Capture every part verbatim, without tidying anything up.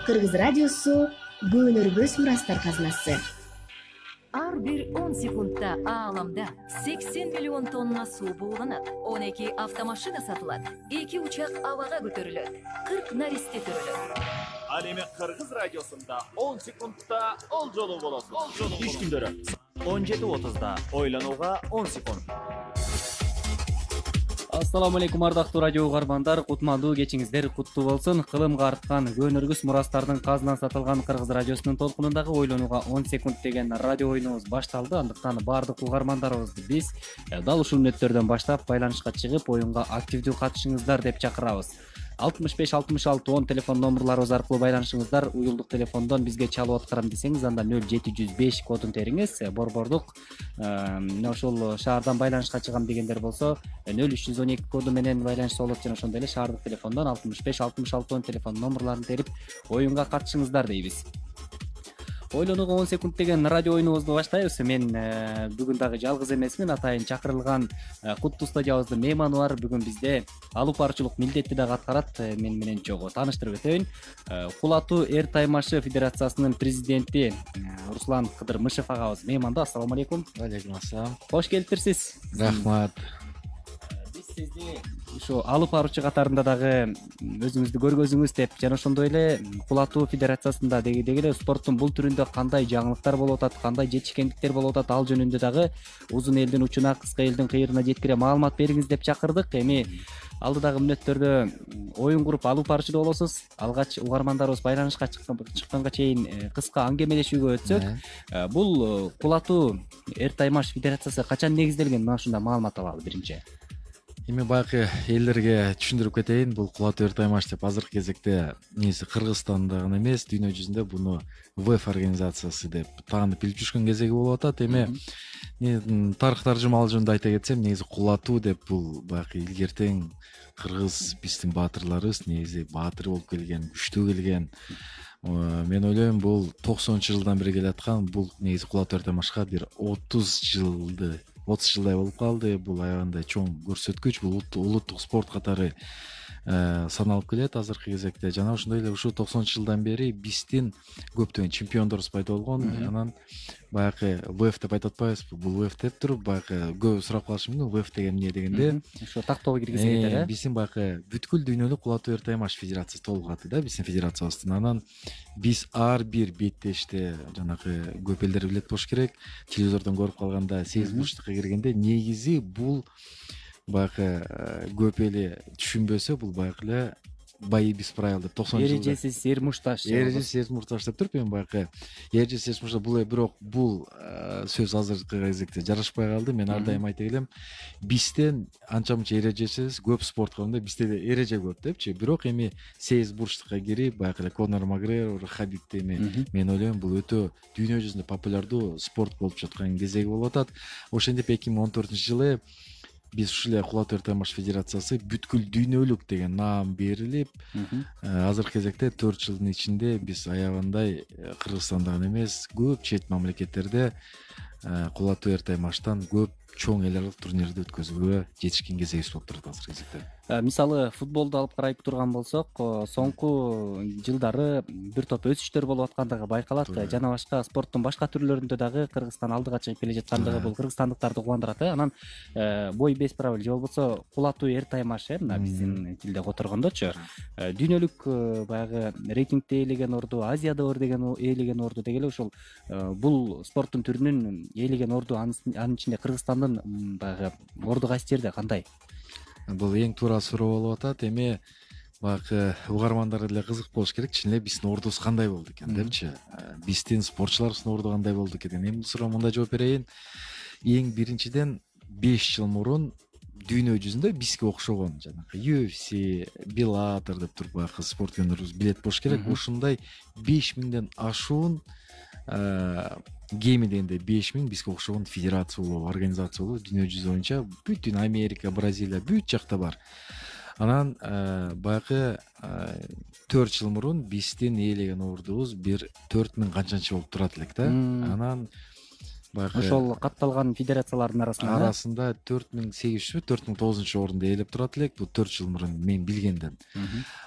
Кыргыз радиосу көөнөргөс мурастар казынасы. Ар бир он секундта ааламда сексен миллион тонна суу бууланат, он эки автомашина сатылат, эки учак абага көтөрүлөт, кырк наристе төрөлөт. Ал эми Кыргыз радиосунда он секундта ол жолу болосуз. Иш күндөрү он жети отузда ойлонууга он секунд. Ассаламу алейкум ардактуу радио угармандар, кутмандуу кечиңиздер куттуу болсун. Кылымга арткан көөнөргүс мурастардын казынан сатылган Кыргыз радиосунун толкунундагы ойлонууга он секунд деген радио оюнубуз башталды. Андыктан баардык угармандарыбызды биз дал ушул мүнөттөрдөн баштап байланышка чыгып, оюнга активдүү катышыңыздар деп чакырабыз. алтымыш беш алтымыш алты он телефон номерларыбыз аркылуу байланышыңыздар. Уюлдук телефондон бизге чалып аткарам десеңиз, анда нөл жети жүз беш кодун териңиз. Борбордук мына ошол шаардан байланышка чыгам дегендер болсо нөл үч жүз он эки коду менен байланышса болот жана ошондой эле шаардык телефондон алтымыш беш алтымыш алты он телефон номерларын терип оюнга катышыңыздар дейбиз. Ойлонууга он секунд деген радио оюнубузду баштайбыз. Мен бүгүн дагы жалгыз эмесмин. Атайын чакырылган куттуу студиябыздын мейманы бар. Бүгүн бизде алып баруучулук милдетти дагы аткарат. Мен менен чогуу тааныштырып өтөйүн. Кулатуу эр таймашы федерациясынын президенти Руслан Кыдырмышев агабыз мейманда. Ассаламу алейкум. Алейкум ассалам. Кош келиптирсиз. Рахмат. Биз сизди ушу алып баруучу катарында дагы өзүңүздү көргөзүңүз деп жана ошондой эле кулатуу федерациясында деги эле спорттун бул түрүндө кандай жаңылыктар болуп атат, кандай жетишкендиктер болуп атат, ал жөнүндө дагы узун элдин учуна, кыска элдин кыйырына жеткире маалымат бериңиз деп чакырдык. Эми алдыдагы мүнөттөрдө оюн куруп алып баруучу болосуз. Алгач угармандарыбыз байланышка чыкканга чейин кыска аңгемелешүүгө өтсөк, бул кулатуу эр таймаш федерациясы качан негизделген? Мына ушундай маалымат алалы биринчи. Эми байкы элдерге түшүндүрүп кетейин, бул кулатуу эр таймаш деп азыркы кезекте негизи Кыргызстанда гана эмес, дүйнө жүзүндө буну вэ эф организациясы деп таанып билип жүргөн кезеги болуп атат. Эми тарых таржымалуу жөнүндө айта кетсем, негизи кулатуу деп бул байкы илгертең кыргыз биздин баатырларыбыз негизи баатыр болуп келген, күчтүү келген. Мен ойлойм, бул токсонунчу жылдан бери келаткан, бул негизи кулатуу эр таймашка бир отуз жылды отуз жылдай болуп калды. Бул аябагандай чоң көрсөткүч, бул улуттук спорт катары саналып келет азыркы кезекте. Жана ошондой эле ушул токсонунчу жылдан бери биздин көптөгөн чемпиондорубуз пайда болгон. Анан баягы вэ эф деп айтып атпайбызбы? Бул вэ эф деп туруп, баягы көп сурап калышы мүмкүн, вэ эф деген эмне дегенде. Ошо тактоого киргизет эле. Биздин баягы бүткүл дүйнөлүк кулатуу эр таймаш федерациясы толук аты да, биздин федерациябыздын. Анан биз ар бир беттеште жанагы көп элдер билет болуш керек. Телевизордон көрүп калганда сегиз бурчтукка киргенде негизи бул баягы көп эле түшүнбөсө, бул баягы эле бои без правил деп токсонунчу жылда эрежесиз эр мушташ. Эрежесиз эр мушташ деп туруп, эми баягы эрежесиз эр мушташ бул бирок бул сөз азыркы кезекте жарашпай калды. Мен ар дайым айта келем, бизден анча мынча эрежесиз көп спорт кылганда бизде да эреже көп депчи. Бирок эми сегиз бурчтукка кирип баягы эле Конор Макгрегор, Хабиб эми мен ойлойм, бул өтө дүйнө жүзүндө популярдуу спорт болуп жаткан кезеги болуп атат. Ошентип эки миң он төртүнчү жылы биз ушул эле кулатуу эр таймаш федерациясы бүткүл дүйнөлүк деген наам берилип, азыркы кезекте төрт жылдын ичинде биз аябагандай Кыргызстанда гана эмес, көп чет мамлекеттерде кулатуу эр таймаштан көп чоң эл аралык турнирди өткөзүүгө жетишкен кезегибиз болуп турат азыркы кезекте. Мисалы футболду алып карап турган болсок, соңку жылдары бир топ өсүштөр болуп аткандыгы байкалат. Жана башка спорттун башка түрлөрүндө дагы Кыргызстан алдыга чыгып келе жаткандыгы бул кыргызстандыктарды кубандырат. Анан бой без правил же болбосо кулатуу эр таймаш, мына биздин тилде которгондочу, дүйнөлүк баягы рейтингде ээлеген орду, Азияда ээлеген орду деги эле ушул бул спорттун түрүнүн ээлеген орду, анын ичинде Кыргызстандын баягы орду кайсы жерде, кандай? Бул эң туура суроо болуп атат. Эми баягы угармандар деле кызык болуш керек, чын эле биздин ордубуз кандай болду экен депчи. Биздин спортчуларыбыздын орду кандай болду экен? Эми бул суроого мындай жооп берейин. Эң биринчиден беш жыл мурун дүйнө жүзүндө бизге окшогон жанагы ю эф си, Bellator деп туруп баягы спорт күндөрүбүз билет болуш керек. Ушундай беш миңден ашуун гейми дегенде беш миң бизге окшогон федерация болобу, организация болобу дүйнө жүзү боюнча, бүтүн Америка, Бразилия, бүт жакта бар. Анан баягы төрт жыл мурун биздин ээлеген ордубуз бир төрт миң канчанчы болуп турат элек да. Анан баягы ошол катталган федерациялардын арасында арасында төрт миң сегиз жүзбү төрт миң тогузунчу орунду ээлеп турат элек, бул төрт жыл мурун мен билгенден.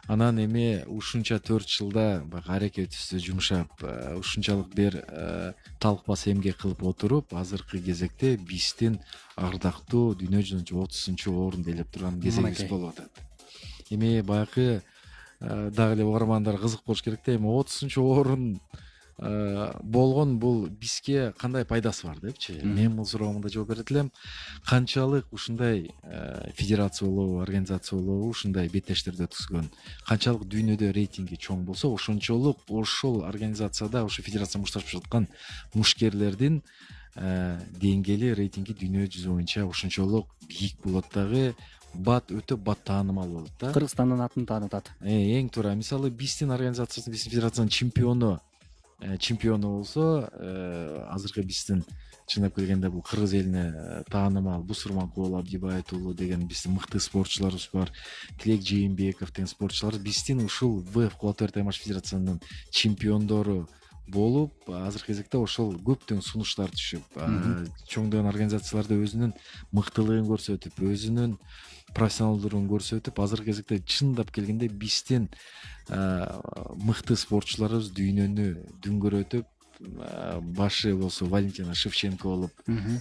Анан эми ушунча төрт жылда баягы аракетибизди жумшап, ушунчалык бир талкпас эмгек кылып отуруп, азыркы кезекте биздин ардактуу дүйнө жүзүндө отузунчу орунду ээлеп турган кезегибиз болуп атат. Эми баягы дагы эле угармандар кызык болуш керек да, эми отузунчу орун болгон бул бизге кандай пайдасы бар депчи. Мен бул суроого мындай жооп берет элем. Канчалык ушундай федерация болобу, организация болобу, ушундай беттештерди өткөзгөн, канчалык дүйнөдө рейтинги чоң болсо, ошончолук ошол организацияда, ошо федерация мушташып жаткан мушкерлердин деңгээли, рейтинги дүйнө жүзү боюнча ошончолук бийик болот дагы, бат өтө бат таанымал болот да. Кыргызстандын атын таанытат. Эң туура. Мисалы биздин организациясы, биздин федерациянын чемпиону чемпиону болсо, азыркы биздин чындап келгенде бул кыргыз элине таанымал Бусурманкул Абдибаев уулу деген биздин мыкты спортчуларыбыз бар. Тилек Жээнбеков деген спортчулар биздин ушул ВФ Кулат Эртаймаш федерациянын чемпиондору болуп, азыркы кезекте ошол көптөгөн сунуштар түшүп, чоңдогон организацияларда өзүнүн мыктылыгын көрсөтүп, өзүнүн профессионалдуулугун көрсөтүп, азыркы кезекте чындап келгенде биздин мыкты спортчуларыбыз дүйнөнү дүңгөрөтүп, башы болсо Валентина Шевченко болуп,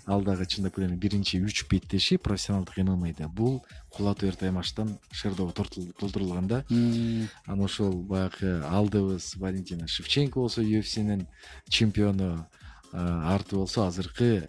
ал дагы чындап келгенде биринчи үч беттеши профессионалдык эм эм э'де. Бул Кулат Эртаймаштан шердоого толтурулган да. Анан ошол баягы алдыбыз Валентина Шевченко болсо ю эф синин чемпиону, арты болсо азыркы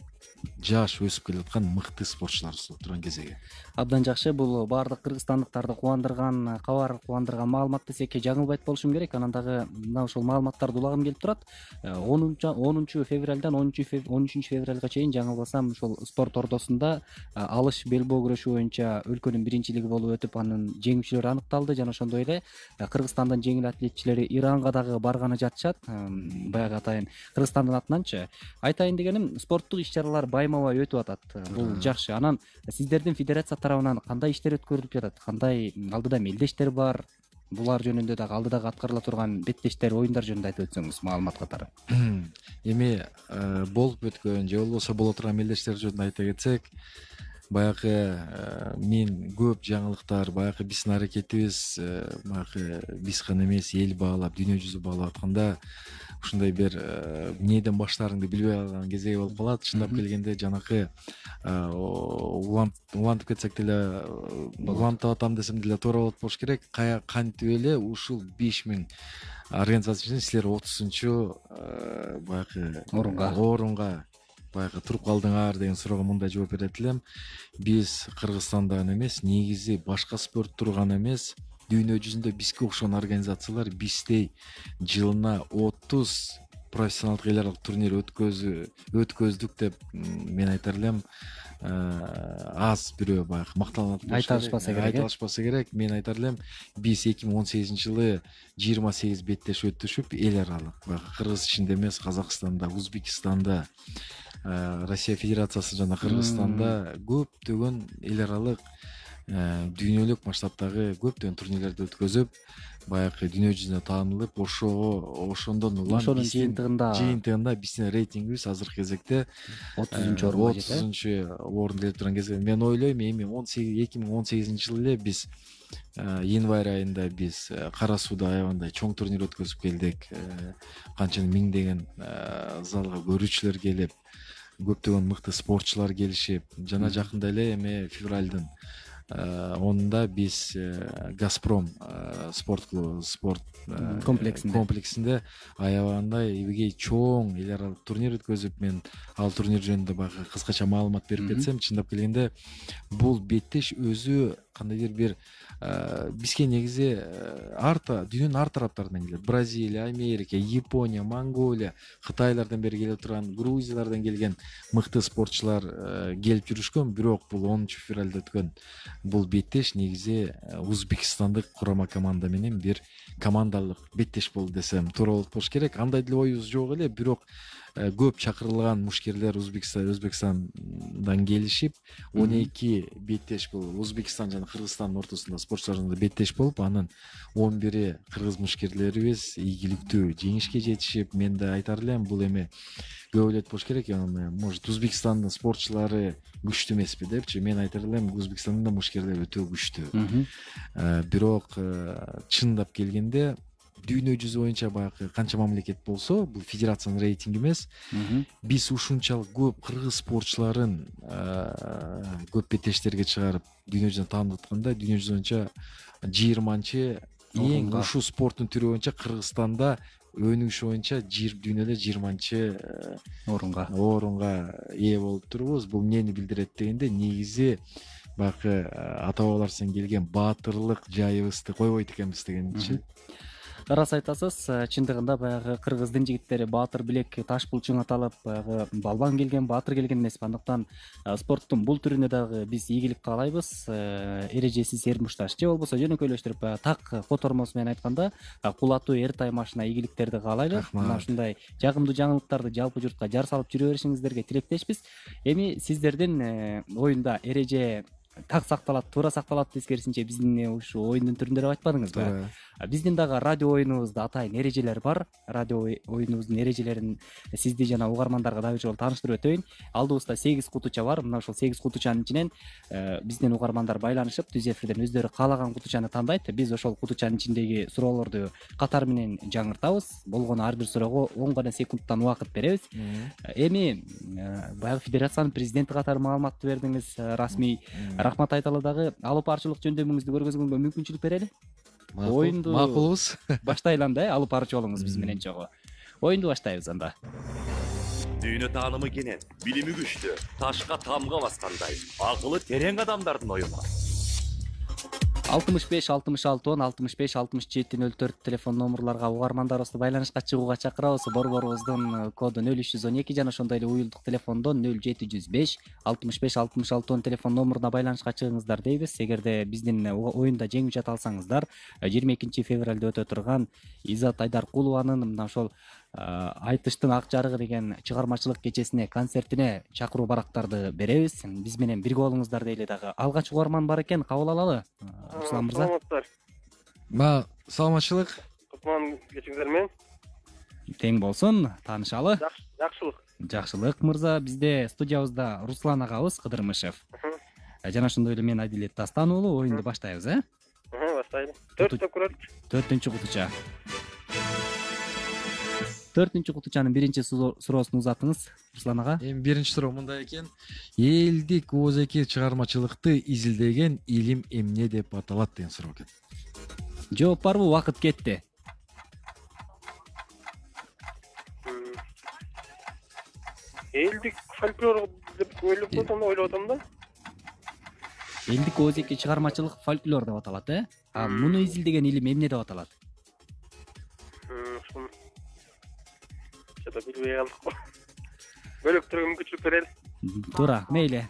жаш өсүп келаткан мыкты спортчуларыбыз болуп турган кезеги. Абдан жакшы. Бул баардык кыргызстандыктарды кубандырган кабар, кубандырган маалымат десек жаңылбайт болушум керек. Анан дагы мына ошол маалыматтарды улагым келип турат. онунчу февралдан он үчүнчү февралга чейин жаңылбасам ошол спорт ордосунда алыш белбоо күрөшү боюнча өлкөнүн биринчилиги болуп өтүп, анын жеңүүчүлөрү аныкталды жана ошондой эле Кыргызстандын жеңил атлетчилери Иранга дагы барганы жатышат. Баягы атайын Кыргызстандын атынанчы. Айтайын дегеним, спорттук иш-чаралар байма-бай өтүп атат. Бул жакшы. Анан сиздердин федерация тарабынан кандай иштер өткөрүлүп жатат? Кандай алдыда мелдештер бар? Булар жөнүндө дагы алдыдагы аткарыла турган беттештер, оюндар жөнүндө айтып өтсөңүз маалымат катары. Эми болуп өткөн же болбосо боло турган мелдештер жөнүндө айта кетсек, баягы мен көп жаңылыктар, баягы биздин аракетибиз, баягы биз гана эмес, эл баалап, дүйнө жүзү баалап атканда ушундай бир эмнеден баштаарыңды билбей калган кезеги болуп калат. Чындап келгенде жанакы улантып кетсек деле, улантып атам десем деле туура болот болуш керек. Кантип эле ушул беш миң организация үчүн силер отузунчу баягы орунга орунга баягы туруп калдыңар деген суроого мындай жооп берет элем. Биз Кыргызстандан эмес, негизи башка спорт турган эмес, дүйнө жүзүндө бизге окшогон организациялар биздей жылына отуз профессионалдык эл аралык турнир өткөздүк деп мен айтар элем. Аз бирөө баягы мактанат болуш керек. Айталышпаса керек. Айталышпаса керек. Мен айтар элем, биз эки миң он сегизинчи жылы жыйырма сегиз беттеш өтүшүп, эл аралык баягы Кыргыз ичинде эмес, Казакстанда, Узбекистанда, Россия Федерациясы жана Кыргызстанда көптөгөн эл аралык дүйнөлүк масштабтагы көптөгөн турнирлерди өткөзүп, баягы дүйнө жүзүнө таанылып, ошого ошондон улам ошонун жыйынтыгында жыйынтыгында биздин рейтингибиз азыркы кезекте отузунчу орунга жетти. отузунчу орунда келип турган кезде мен ойлойм, эми эки миң он сегизинчи жылы эле биз январь айында биз Кара Сууда аябагандай чоң турнир өткөзүп келдик. Канча миңдеген залга көрүүчүлөр келип, көптөгөн мыкты спортчулар келишип, жана жакында эле эми февралдын онунда биз Газпром спорт клубу спорт комплексинде комплексинде аябагандай эбегей чоң эл аралык турнир өткөзүп, мен ал турнир жөнүндө баягы кыскача маалымат берип кетсем, чындап келгенде бул беттеш өзү кандайдыр бир бизге негизи арта дүйнөнүн ар тараптарынан келет. Бразилия, Америка, Япония, Монголия, Кытайлардан бери келип турган, Грузиялардан келген мыкты спортчулар келип жүрүшкөн. Бирок бул онунчу февралда өткөн бул беттеш негизи Узбекстандык курама команда менен бир командалык беттеш болду десем туура болот болуш керек. Андай деле оюбуз жок эле, бирок көп чакырылган мушкерлер Өзбекстан Өзбекстандан келишип, он эки беттеш бул Өзбекстан жана Кыргызстандын ортосунда спортчуларда беттеш болуп, анын он бири кыргыз мушкерлерибиз ийгиликтүү жеңишке жетишип, мен да айтар элем, бул эми көп ойлойт болуш керек. Может Өзбекстандын спортчулары күчтүү эмеспи депчи. Мен айтар элем Өзбекстандын да мушкерлери өтө күчтүү. Бирок чындап келгенде дүйнө жүзү боюнча баягы канча мамлекет болсо, бул федерациянын рейтинги эмес. Биз ушунчалык көп кыргыз спортчуларын көп бетештерге чыгарып дүйнө жүзүнө таанып атканда, дүйнө жүзү боюнча жыйырманчы эң ушул спорттун түрү боюнча Кыргызстанда өнүгүш боюнча дүйнөдө жыйырманчы орунга орунга ээ болуп турбуз. Бул эмнени билдирет дегенде, негизи баягы ата бабаларыбыздан келген баатырлык жайыбызды койбойт экенбиз дегенчи. Рас айтасыз, чындыгында баягы кыргыздын жигиттери баатыр билек таш булчуң аталып, баягы балбан келген, баатыр келген эмес. Андыктан спорттун бул түрүнө дагы биз ийгилик каалайбыз. Эрежесиз эрмушташ же болбосо жөнөкөйлөштүрүп так котормосу менен айтканда кулатуу эр таймашына ийгиликтерди каалайлы. Мына ушундай жагымдуу жаңылыктарды жалпы журтка жар салып жүрө беришиңиздерге тилектешпиз. Эми сиздердин оюнда эреже так сакталат, туура сакталат тескерисинче биздин ушу оюндун түрүндө деп айтпадыңызбы? Биздин дагы радио оюнубузда атайын эрежелер бар. Радио оюнубуздун эрежелерин сизди жана угармандарга дагы жолу тааныштырып өтөйүн. Алдыбызда сегиз кутуча бар. Мына ушул сегиз кутучанын ичинен биздин угармандар байланышып, түз эфирден өздөрү каалаган кутучаны тандайт. Биз ошол кутучанын ичиндеги суроолорду катар менен жаңыртабыз. Болгону ар бир суроого он гана секундтан убакыт беребиз. Эми баягы федерациянын президенти катары маалыматты бердиңиз. Расмий рахмат айталы дагы. Алып барчылык жөндөмүңүздү көргөзгөнгө мүмкүнчүлүк берели. Оюнду макулбуз. Баштайлы анда, алып барчу болуңуз биз менен чогуу. Оюнду баштайбыз анда. Дүйнө таанымы кенен, билими күчтүү, ташка тамга баскандай, акылы терең адамдардын оюну. алтымыш беш алтымыш алты он алтымыш беш алтымыш жети нөл төрт телефон номурларга угармандарыбызды байланышка чыгууга чакырабыз. Борборубуздун коду нөл үч жүз он эки жана ошондой эле уюлдук телефондон нөл жети жүз беш алтымыш беш алтымыш алты он телефон номуруна байланышка чыгыңыздар дейбиз. Эгерде биздин оюнда жеңүүчү ата алсаңыздар, жыйырма экинчи февралда өтө турган Изат Айдаркулованын мына ошол Айтыштын ак жарыгы деген чыгармачылык кечесине, концертине чакыруу барактарды беребиз. Биз менен бирге болуңуздар дейли дагы. Алгач угарман бар экен, кабыл алалы. Руслан мырза. Саламатсыздар. Ма, саламатчылык. Кутман кечиңиздер менен. Тең болсун, таанышалы. Жакшылык. Жакшылык мырза. Бизде студиябызда Руслан агабыз Кыдырмышев. Жана ошондой эле мен Адилет Дастан уулу. Оюнду баштайбыз, э? Баштайлы. төрттө көрөлүк. Төртүнчү кутуча. Төртүнчү кутучанын биринчи суроосун узатыңыз, Руслан ага. Эми биринчи суроо мындай экен. Элдик оозеки чыгармачылыкты изилдеген илим эмне деп аталат деген суроо экен. Жооп барбы? Убакыт кетти. Элдик фольклор деп ойлоп атам да, ойлоп атам да. Элдик оозеки чыгармачылык фольклор деп аталат, э? А муну изилдеген илим эмне деп аталат? Жада билбей калдык. Бөлөктөргө мүмкүнчүлүк берели. Туура, мейли.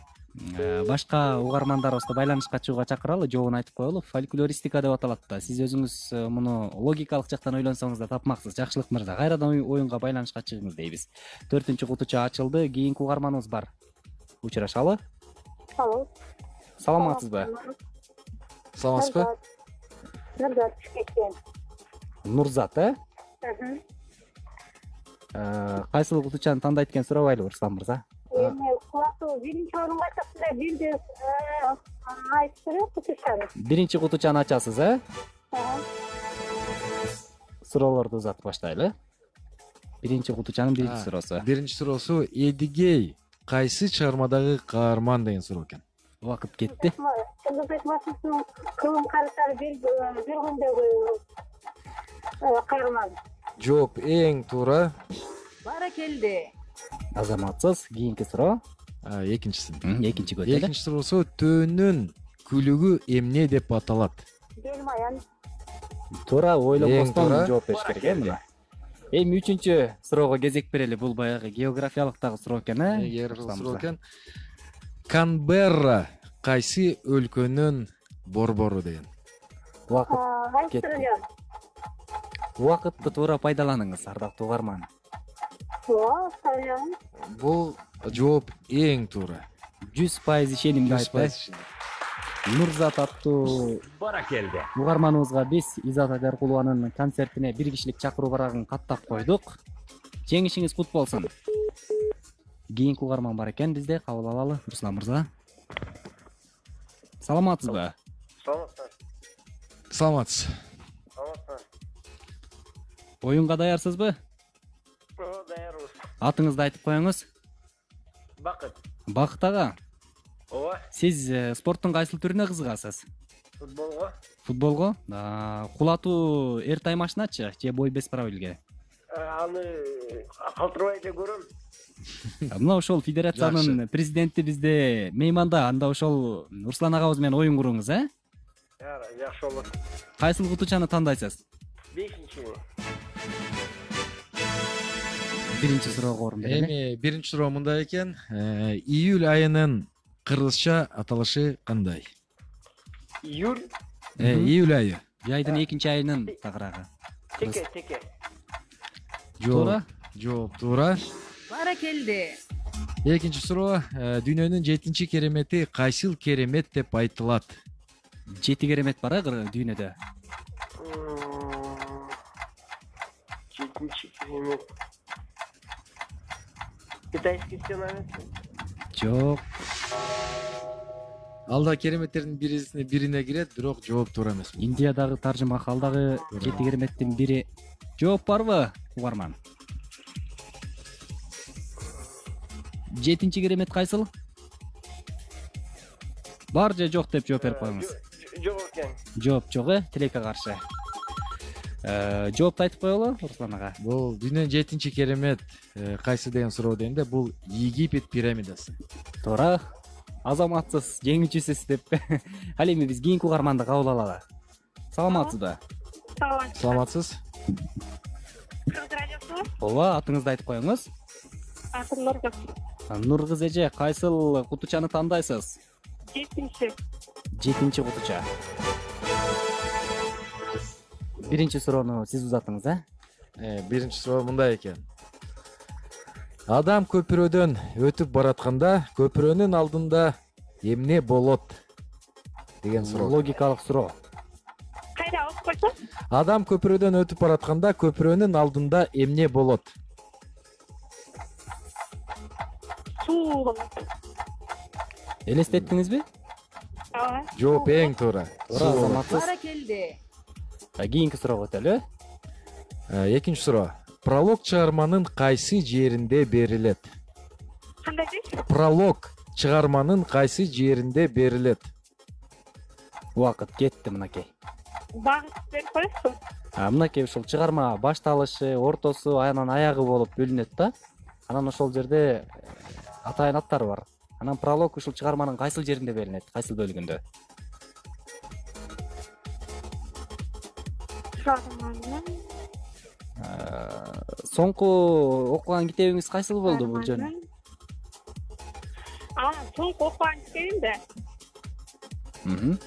Башка угармандарыбызды байланышка чыгууга чакыралы, жообун айтып коелу. Фольклористика деп аталат да. Сиз өзүңүз муну логикалык жактан ойлонсоңуз да тапмаксыз. Жакшылык мырза, кайрадан оюнга байланышка чыгыңыз дейбиз. Төртүнчү кутуча ачылды. Кийинки угарманыбыз бар. Учурашалы. Алло. Саламатсызбы? Саламатсызбы? Нурзат Бишкектен. Нурзат, э? Кайсыл кутучаны тандайт экен сурабайлы, Руслан мырза? Эми кулатуу биринчи орунга айтасыздар, бирди айтып берет кутучаны. Биринчи кутучаны ачасыз, э? Суроолорду узатып баштайлы. Биринчи кутучанын биринчи суроосу. Биринчи суроосу Эдигей кайсы чыгармадагы каарман деген суроо экен. Убакыт кетти. Чыңгызбек Масовдун кылым карыштары бир күндөгү каарман. Жооп эң туура. Баракелде. Азаматсыз. Кийинки суроо. Экинчиси. Экинчи көтөлө. Экинчи суроосу төөнүн күлүгү эмне деп аталат? Белмаян. Туура, ойлонбостон жооп бериш керек э мына. Эми үчүнчү суроого кезек берели. Бул баягы географиялык дагы суроо экен, э? Географиялык суроо экен. Канберра кайсы өлкөнүн борбору деген. Убакыт кетти. Убакытты туура пайдаланыңыз, ардактуу угарман. Бул жооп эң туура. жүз пайыз ишенимдүү айтты. Нурзат аттуу Баракелде. угарманыбызга биз Изат Айдаркулованын концертине бир кишилик чакыруу барагын каттап койдук. Жеңишиңиз кут болсун. Кийинки угарман бар экен бизде, кабыл алалы. Руслан мырза. Саламатсызбы? Саламатсызбы. Саламатсыз. Саламатсызбы. Оюнга даярсызбы? Ооба, даярбыз. Атыңызды айтып коюңуз. Бакыт. Бакыт ага, Ооба, сиз э, спорттун кайсыл түрүнө кызыгасыз? футболго. Футболго? А, кулатуу эр таймашыначы же бой бесправилге? Аны калтырбай эле көрөм. Мына ошол федерациянын президенти бизде мейманда, анда ошол Руслан агабыз менен оюн куруңуз, э? Жакшы болот. Кайсыл кутучаны тандайсыз? Бешинчи. Биринчи суроого орун берели. Эми биринчи суроо мындай экен. Э, Июль айынын кыргызча аталышы кандай? Июль. Э, Июль айы. Жайдын экинчи айынын тагыраагы. Теке, теке. Туура? Жооп туура. Баракелде. Экинчи суроо. э, Дүйнөнүн жетинчи керемети кайсыл керемет деп айтылат? Жети керемет бар, э, дүйнөдө. Жетинчи керемет. Китайский стена. Жок. Алда кереметтердин бирисине бирине кирет, бирок жооп туура эмес. Индиядагы таржымахал дагы жети кереметтин бири. Жооп барбы, угарман? Жетинчи керемет кайсыл? Бар же жок деп жооп берип коюңуз. Жок экен. Жооп жок, э, тилекке каршы. Э, Жоопту айтып коелу, Руслан ага. Бул дүйнөнүн жетинчи керемет э, кайсы деген суроо дегенде бул Египет пирамидасы. Туура. Азаматсыз, жеңүүчүсүз деп. Ал эми биз кийинки угарманды кабыл алалы. Саламатсызбы? Саламатсыз. Саламатсыз? Кыргыз радиосу. Ооба, атыңызды айтып коюңуз. Атым Нургүл. Нургыз эже, кайсыл кутучаны тандайсыз? Жетинчи. Жетинчи кутуча. Биринчи суроону сиз узаттыңыз, э? Э, биринчи суроо мындай экен. Адам көпүрөдөн өтүп баратканда көпүрөнүн алдында эмне болот деген суроо. Логикалык суроо. Кайда окуп койсоң? Адам көпүрөдөн өтүп баратканда көпүрөнүн алдында эмне болот? Суу болот. Элестеттиңизби? Ооба. Жооп эң туура. Туура, азаматсыз. Баракелде. Кийинки суроого өтөлү. Э, Экинчи суроо. Пролог чыгарманын кайсы жеринде берилет? Кандай дейсиз? Пролог чыгарманын кайсы жеринде берилет? Убакыт кетти мынакей. Багыт берип коесузбу? А мынакей ушул чыгарма башталышы, ортосу, анан аягы болуп бөлүнөт да. Анан ошол жерде атайын аттары бар. Анан пролог ушул чыгарманын кайсыл жеринде берилет, кайсыл бөлүгүндө? Чыгарманын. Соңку окуган китебиңиз кайсыл болду бул жөн? А, соңку окуган китебимде. Мм.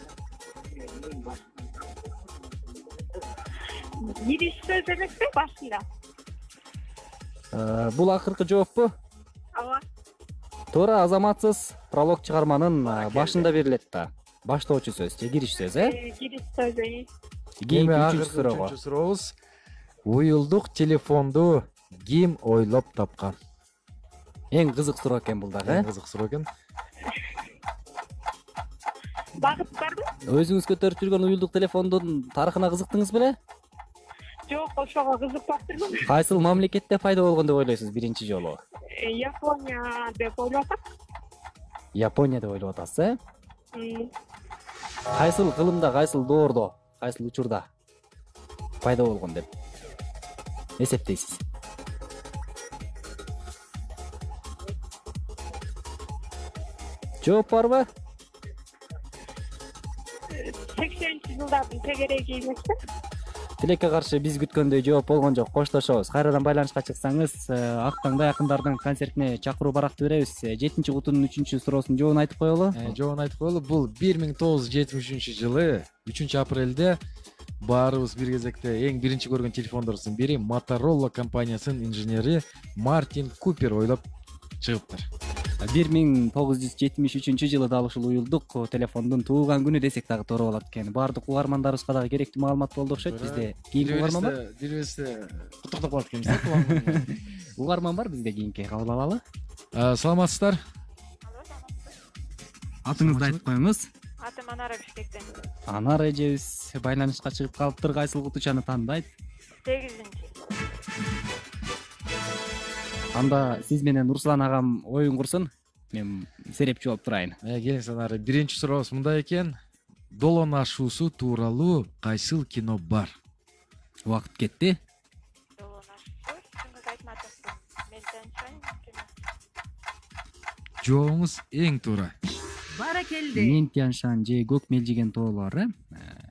Гириш сөз эмеспи башында? Бул акыркы жооппу? Ооба. Туура, азаматсыз. Пролог чыгарманын башында берилет да. Баштоочу сөз же кириш сөз, э? Гириш сөзү. Кийинки Эми үчүнчү акыркы суроого. үчүнчү сурообуз. Уюлдук телефонду ким ойлоп тапкан? Эң кызык суроо экен бул дагы, Эң э? кызык суроо экен. Багыт барбы? Өзүңүз көтөрүп жүргөн уюлдук телефондун тарыхына кызыктыңыз беле? Жок, ошого кызыкпап турмун. Кайсыл мамлекетте пайда болгон деп ойлойсуз биринчи жолу? Япония деп ойлоп атам. Япония деп ойлоп атасыз, э? Кайсыл кылымда, кайсыл доордо, кайсыл учурда пайда болгон деп эсептейсиз? Жооп барбы? сексенинчи жылдардын тегереги эмеспи? Тилекке каршы биз күткөндөй жооп болгон жок. Коштошобуз. Кайрадан байланышка чыксаңыз, Актаңда якындардын концертине чакыруу баракты беребиз. жетинчи кутунун үчүнчү суроосунун жообун айтып коелу. Жообун айтып коелу. Бул бир миң тогуз жүз жетимиш үчүнчү жылы үчүнчү апрелде баарыбыз бир кезекте эң биринчи көргөн телефондордун бири Motorola компаниясынын инженери Мартин Купер ойлоп чыгыптыр. бир миң тогуз жүз жетимиш үчүнчү жылы дал ушул уюлдук телефондун туулган күнү десек дагы туура болот экен. Баардык угармандарыбызга дагы керектүү маалымат болду окшойт. Бизде кийинки угарман бар. Бирибизде куттуктап коет экенбиз. Угарман бар бизде кийинки кабыл алалы. Саламатсыздар? Атыңызды айтып коюңуз. Атым Анара Бишкектен. Анар эжебиз байланышка чыгып калыптыр. Кайсыл кутучаны тандайт? сегизинчи. Анда сиз менен Руслан агам оюн курсун. Мен серепчи болуп турайын. Келиңиз Анара, биринчи сурообуз мындай экен. Долон ашуусу тууралуу кайсыл кино бар? Убакыт кетти. Долон ашуусу чындыгы айтматсам, мен танышайын. Жообуңуз эң туура. Баракелде. Мен Тяншан же көк мелжиген тоолор, э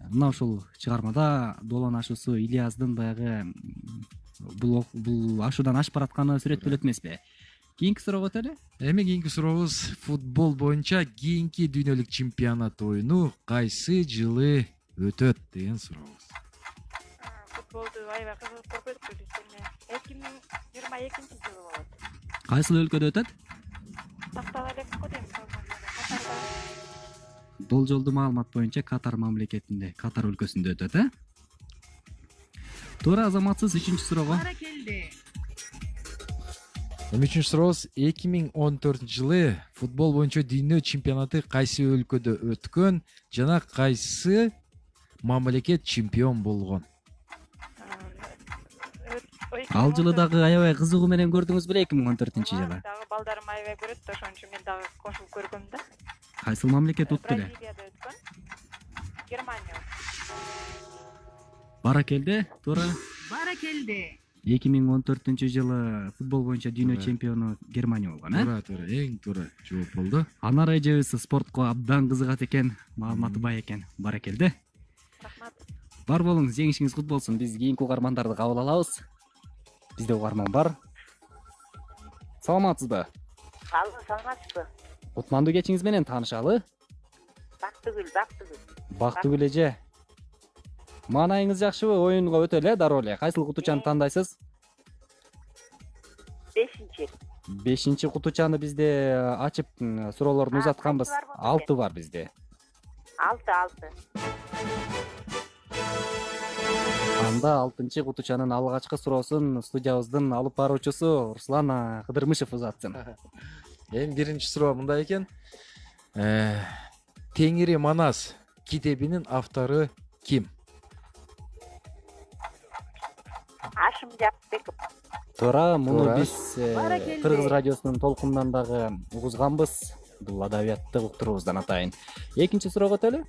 мына ушул чыгармада Долон ашуусу Ильяздын баягы бул бул ашуудан ашып баратканы сүрөттөлөт эмеспи? Кийинки суроого өтөлү. Эми кийинки сурообуз футбол боюнча кийинки дүйнөлүк чемпионат оюну кайсы жылы өтөт деген сурообуз. Футболду аябай кызыгып көрбөдүкпү биз эми эки миң жыйырма экинчи жылы болот. Кайсыл өлкөдө өтөт? Тактала элек го дейм. Катарда. Болжолдуу маалымат боюнча Катар мамлекетинде, Катар өлкөсүндө өтөт, э? Туура, азаматсыз үчүнчү суроого. Баракелде. Эми үчүнчү сурообуз эки миң он төртүнчү жылы футбол боюнча дүйнө чемпионаты кайсы өлкөдө өткөн жана кайсы мамлекет чемпион болгон? Ал жылы дагы аябай кызыгуу менен көрдүңүз беле эки миң он төртүнчү жылы? Дагы балдарым аябай көрөт да, ошон үчүн мен дагы кошулуп көргөм да. Кайсыл мамлекет утты эле? Бразилияда өткөн. Германия. Баракелде, туура. Баракелде. эки миң он төртүнчү жылы футбол боюнча дүйнө чемпиону Германия болгон, э? Туура, туура, эң туура жооп болду. Анар эжебиз спортко абдан кызыгат экен, маалыматы бай экен. Баракелде. Рахмат. Бар болуңуз, жеңишиңиз кут болсун. Биз кийинки угармандарды кабыл алабыз. Бизде угарман бар. Саламатсызбы? Алло, саламатсызбы? Кутмандуу кечиңиз менен таанышалы. Бактыгүл, Бактыгүл. Бактыгүл эже. Маанайыңыз жакшыбы? Оюнга өтөлү, дароо эле. Кайсыл кутучаны тандайсыз? Бешинчи. Бешинчи кутучаны бизде ачып суроолорду узатканбыз. Алты бар бизде. Алты, алты. Анда алтынчы кутучанын алгачкы суроосун студиябыздын алып баруучусу Руслан Кыдырмышев узатсын. Эми биринчи суроо мындай экен. Теңири Манас китебинин автору ким? Ашым Жапбеков. Туура, муну Туура. биз Кыргыз радиосунун толкунунан дагы угузганбыз. Бул адабиятты уктуруубуздан атайын. Экинчи суроого өтөлү.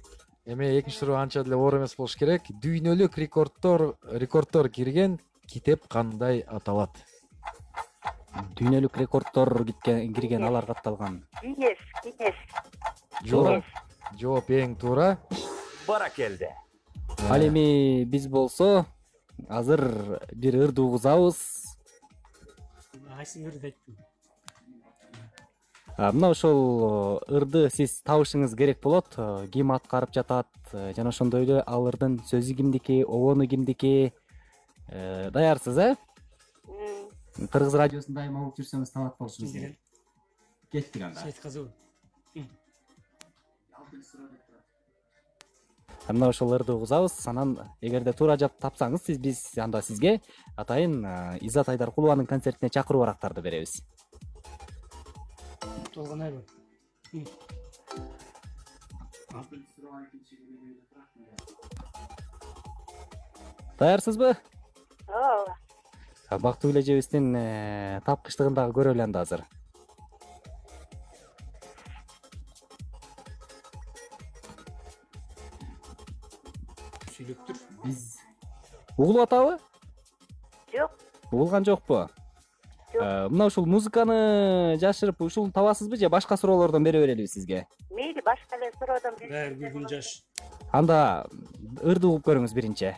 Эми экинчи суроо анча деле оор эмес болуш керек. Дүйнөлүк рекордтор рекордтор кирген китеп кандай аталат? Дүйнөлүк рекордтор кирген алар катталган. Гинес, Гинес. Жооп. Жооп эң туура. Баракелде. Ал эми биз болсо азыр бир ырды угузабыз. Мына ошол ырды сиз табышыңыз керек болот. Ким аткарып жатат жана ошондой эле ал ырдын сөзү кимдики, обону кимдики? Даярсыз, э? Кыргыз радиосун дайыма угуп жүрсөңүз талап болушуңуз керек. Кеттик анда. Мына ошол ырды угузабыз. Анан эгерде туура жап тапсаңыз, сиз биз анда сизге атайын Иззат Айдаркулованын концертине чакыруу барактарды беребиз. Даярсызбы? Ооба. Бактыгүл эжебиздин тапкычтыгын дагы көрөлү анда азыр. Биз угулуп атабы? Жок. Угулган жокпу? Мына ушул музыканы жашырып ушул табасызбы же башка суроолордон бере берелиби сизге? Мейли, башка эле суроодон бир. Анда ырды угуп көрүңүз биринчи.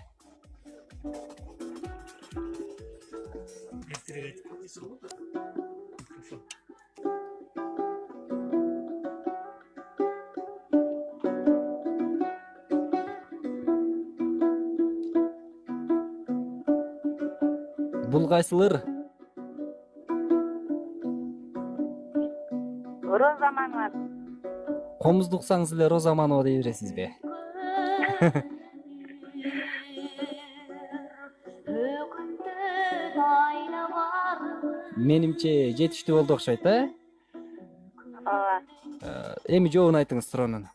Бул кайсыл ыр? Роза Манова. Комузду уксаңыз эле Роза Манова дей бересизби? Менимче жетиштүү болду окшойт, э? Эми жообун айтыңыз суроонун.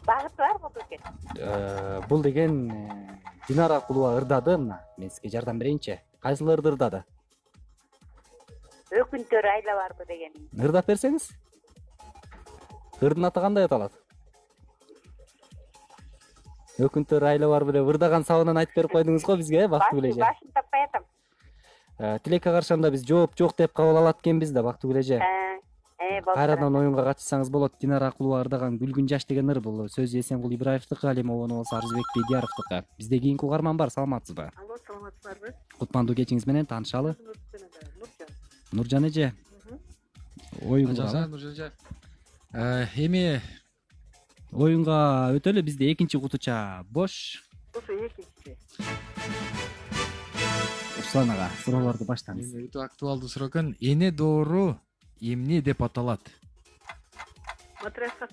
Багыт барбы көке? Бул деген Динара Кулова ырдады мына. Мен сизге жардам берейинчи. Кайсыл ырды ырдады? Өкүнтөр айла барбы деген. Ырдап берсеңиз? Ырдын аты кандай аталат? Өкүнтөр айла барбы деп ырдаган сабынан айтып берип койдуңуз го бизге, Бактыгүл эже. Башын таппай атам. Тилекке каршы анда биз жооп жок деп кабыл алат экенбиз да, Бактыгүл эже. Э, болот. Кайрадан оюнга катышсаңыз болот. Динара Кулова ырдаган Күлгүн жаш деген ыр, бул сөзү Эсенгул Ибраевдики, Алимовонун болсо Арызбек Бедияровдики. Бизде кийинки угарман бар, саламатсызбы? Алло, саламатсыздарбы? Кутмандуу кечиңиз менен таанышалы. Нуржан эже. Оюнга. Нуржан эже. Эми Оюнга өтөлү, бизде экинчи кутуча бош. Ошо экинчи. Руслан ага, суроолорду баштаңыз. Өтө актуалдуу суроо экен. Эне доору эмне деп аталат? Матрасат.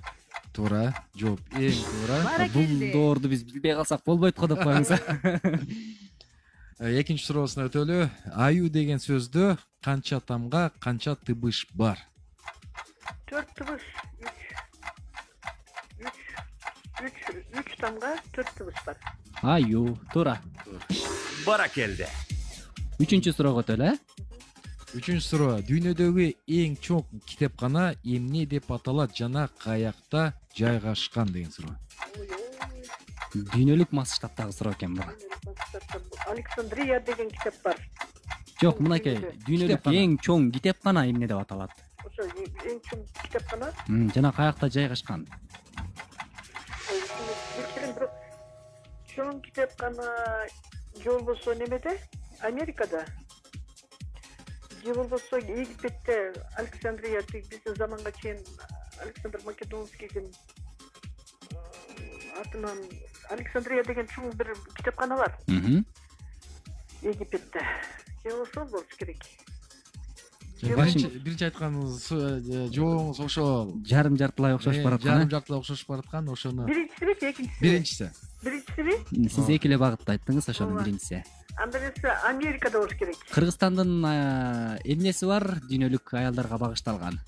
Туура, жооп эң туура. Бул доорду биз билбей калсак болбойт го деп коюңуз. Экинчи суроосуна өтөлү. Аю деген сөздө канча тамга, канча тыбыш бар? Төрт тыбыш. Үч, үч тамга төрт тыбыш бар. Аю, туура. Баракелде. Үчүнчү суроого өтөлү, э? Үчүнчү суроо. Дүйнөдөгү эң чоң китепкана эмне деп аталат жана каякта жайгашкан деген суроо. Дүйнөлүк масштабтагы суроо экен бул. Александрия деген китеп бар. Жок, мынакей, дүйнөлүк эң чоң китепкана эмне деп аталат? Ошо эң чоң китепкана. Жана каякта жайгашкан? Чоң китепкана же болбосо немеде? Америкада. Же болбосо Египетте, Александрия, биздин заманга чейин Александр Македонскийдин атынан Александрия деген чоң бир китепкана бар. Египетте. Же ошол болуш керек. Биринчи айтканыңыз жообуңуз ошол. Жарым жартылай окшошуп бараткан. Жарым жартылай окшошуп бараткан, ошону. Биринчисиби, экинчиси? Биринчиси. Биринчисиби? Сиз эки эле багытты айттыңыз, ошонун биринчиси. Анда эмесе Америкада болуш керек. Кыргызстандын эмнеси бар дүйнөлүк аялдарга багышталган?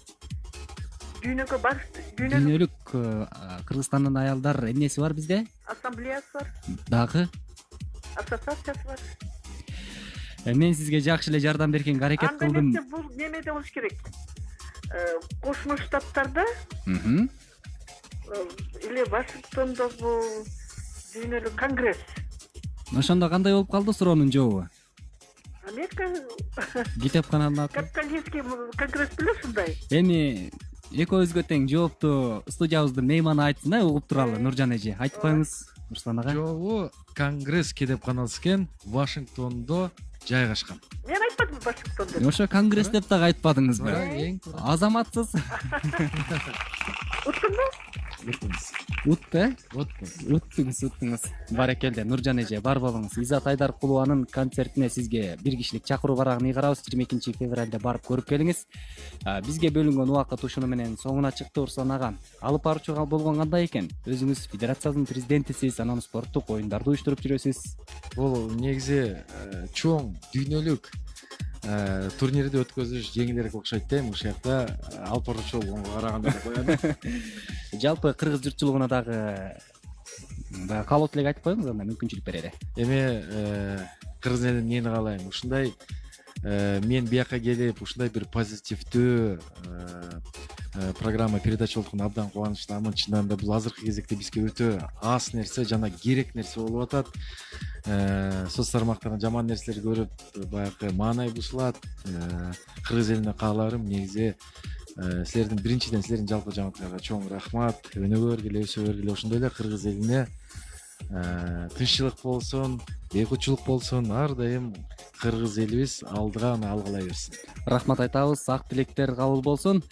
Дүйнөгө багышталган. Дүйнөлүк Кыргызстандын аялдар эмнеси бар бизде? Ассамблеясы бар. Дагы? Ассоциациясы бар. Мен сизге жакшы эле жардам беркенге аракет кылдым. Анда эмесе бул немеде болуш керек. Кошмо Штаттарда. Или Вашингтондогу дүйнөлүк конгресс. Ошондо кандай болуп калды суроонун жообу? Америка китепкананын аты. Капиталистский конгресс билесиңби? Эми экөөбүзгө тең жоопту студиябыздын мейманы айтсын, э, угуп туралы. Нуржан эже, айтып коюңуз, Руслан ага. Жообу конгресс китепканасы экен, Вашингтондо жайгашкан. Мен айтпадым Вашингтондо. Ошо конгресс деп дагы айтпадыңызбы? Азаматсыз. Уттуңбу? Утты, э? Уттуңуз, уттуңуз. Баракелде, Нуржан эже, бар болуңуз. Изат Айдаркулованын концертине сизге бир кишилик чакыруу барагын ыйгарабыз. жыйырма экинчи февралда барып көрүп келиңиз. Бизге бөлүнгөн убакыт ушуну менен соңуна чыкты. Руслан ага, алып баруучу болгон кандай экен? Өзүңүз федерациянын президентисиз, анан спорттук оюндарды уюштуруп жүрөсүз. Бул негизи чоң дүйнөлүк турнирди өткөзүш жеңилирээк окшойт да, ушул жакта алып баруучу болгонго караганда деп коем. Жалпы кыргыз журтчулугуна дагы баягы каалоо тилек айтып коюңуз, анда мүмкүнчүлүк берели. Эми кыргыз элине эмнени каалайм? Ушундай мен бияка келип, ушундай бир позитивдүү программа передача болгону абдан кубанычтамын. Чынында да бул азыркы кезекте бизге өтө аз нерсе жана керек нерсе болуп атат. Соц тармактардан жаман нерселерди көрүп, баягы маанай бузулат. Кыргыз элине кааларым негизи силердин биринчиден силердин жалпы жамааттарга чоң рахмат. Өнүгө бергиле, өсө бергиле. Ошондой эле кыргыз элине тынччылык болсун, бейкутчулук болсун, ар дайым кыргыз элибиз алдыга гана алгылай берсин. Рахмат айтабыз. Ак тилектер кабыл болсун.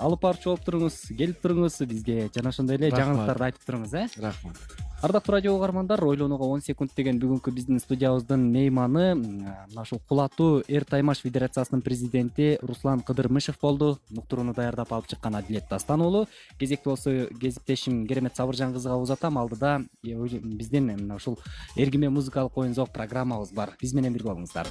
Алып барчу болуп туруңуз, келип туруңуз, бизге жана ошондой эле жаңылыктарды айтып туруңуз, э? Рахмат. Ардактуу радио угармандар, ойлонууга он секунд деген бүгүнкү биздин студиябыздын мейманы мына ушул Кулатуу Эр Таймаш Федерациясынын президенти Руслан Кыдырмышев болду. Уктурууну даярдап алып чыккан Адилет Дастан уулу. Кезекти болсо кесиптешим Керемет Сабыржан кызыга узатам. Алдыда биздин мына ушул эргиме музыкалык оюн зок программабыз бар. Биз менен бирге болуңуздар.